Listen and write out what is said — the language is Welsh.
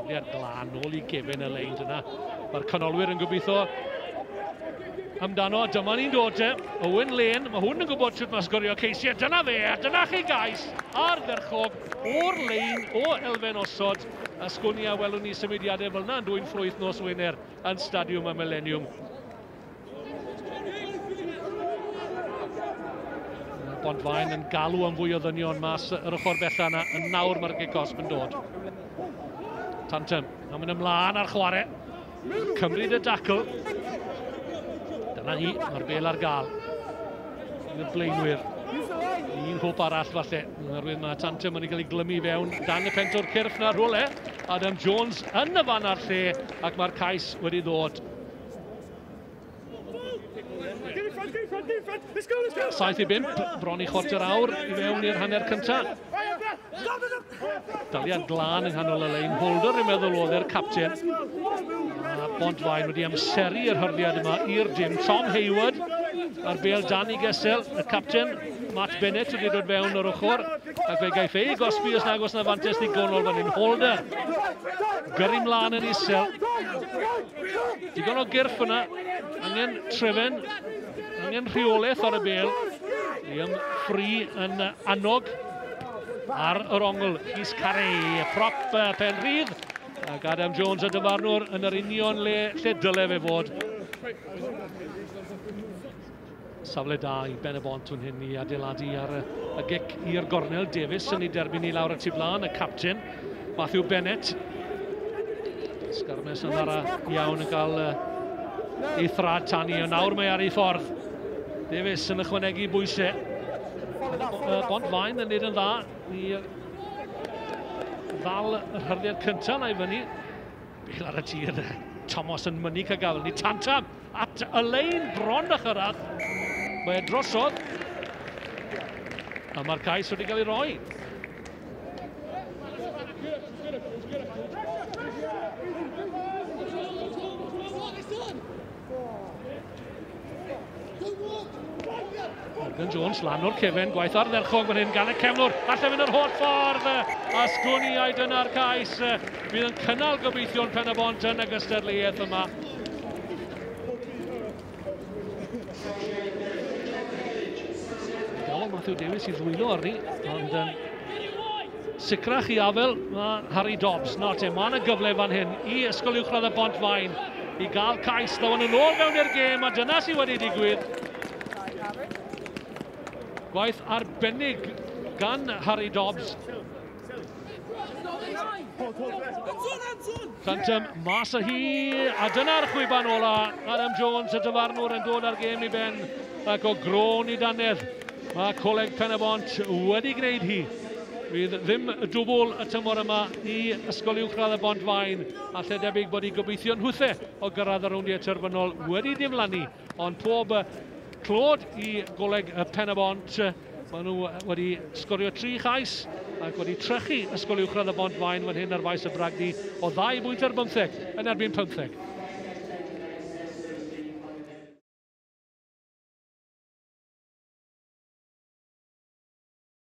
Tafliad glân nôl i gefen y lein dyna. Mae'r canolwyr yn gobeithio amdano. Dyma ni'n dod te. Owen Lane, mae hwn yn gwybod sut mae sgorio ceisiau. Dyna fe, a dyna chi gais ardderchog o'r lein o elfen osod. A sgwn i a welwn ni symudiadau fel yna yn dwyn ffrwyth nos Wener yn Stadiwm y Millennium. Bontfaen yn galw am fwy o ddynion mas yr ochr bella yna. Yn nawr mae'r gic gosb yn dod. Tantum, a mynd ymlaen ar chwarae. Cymryd y dacl. Dyna hi, mae'r bel ar gael. Y blaenwyr. Un hwp arall falle. Oherwydd mae Tantum yn cael ei glymu fewn dan y pentwr cyrff na rhywle. Adam Jones yn y fan a'r lle ac mae'r cais wedi ddod. 7-5, bron i chwarter awr i fewn i'r hanner cyntaf. Daliad glân yng nghanol y lein. Holder yn meddwl oedd e'r capten. A Bontfaen wedi amseru yr hyrddiad yma i'r dim. Tom Hayward a'r bel dan i gesel. Y capten Matt Bennett wedi dod fewn o'r ochr. Ac fe gaiff ei gosbi os nag oes na fantes ddigonol fan hyn. Holder gyrru mlaen yn isel. Digon o gyrff yna. Angen trefen, angen rheolaeth ar y bel. Liam Free yn annog ar yr ongl. Rhys Carey, prop pen rhydd. Ac Adam Jones y dyfarnwr yn yr union le lle dyle fe fod. Safle da i Ben y Bont fan hyn i adeiladu ar y gic i'r gornel. Davies yn ei derbyn i lawr y tu blaen, y capten Matthew Bennett. Sgarmes yn ara iawn yn cael ei thrad tani, ond nawr mae ar ei ffordd. Davies yn ychwanegu bwysau. Bontfaen yn neud yn dda i ddal yr hyrddiad cyntaf na i fyny. Bel ar y tir, Thomas yn mynnu cael gafel. Ni Tantam at y lein bron a chyrraedd. Mae e drosodd. A mae'r cais wedi cael ei roi. Morgan Jones lan o'r cefen, gwaith ardderchog fan hyn gan y cefnwr, alle fynd yr holl ffordd, a sgwn i ai dyna'r cais fydd yn cynnal gobeithio'n Pen y Bont yn y gystadleuaeth yma. Gafodd Matthew Davies i ddwylo arni, ond yn sicrach i afel mae Harry Dobbs. Nawr te, mae yna gyfle fan hyn i Ysgol Uwchradd y Bont-faen i gael cais. Ddaw nhw nôl mewn i'r gêm, a dyna sydd wedi digwydd. Gwaith arbennig gan Harry Dobbs. Tantum mas â hi, a dyna'r chwiban ola. Adam Jones, y dyfarnwr, yn dod â'r gêm i ben, ac o grôn i dannedd. Mae Coleg Pen y Bont wedi gwneud hi. Fydd ddim dwbl y tymor yma i Ysgol Uwchradd y Bont-faen, a lle debyg bod i gobeithio'n hwthe o gyrraedd y rowndiau terfynol wedi diflannu, ond pob clod i Goleg Pen y Bont. Maen nhw wedi sgorio 3 chais ac wedi trechu Ysgol Uwchradd y Bont-faen fan hyn ar faes y Bragdy o 2 bwynt ar 15 yn erbyn 15.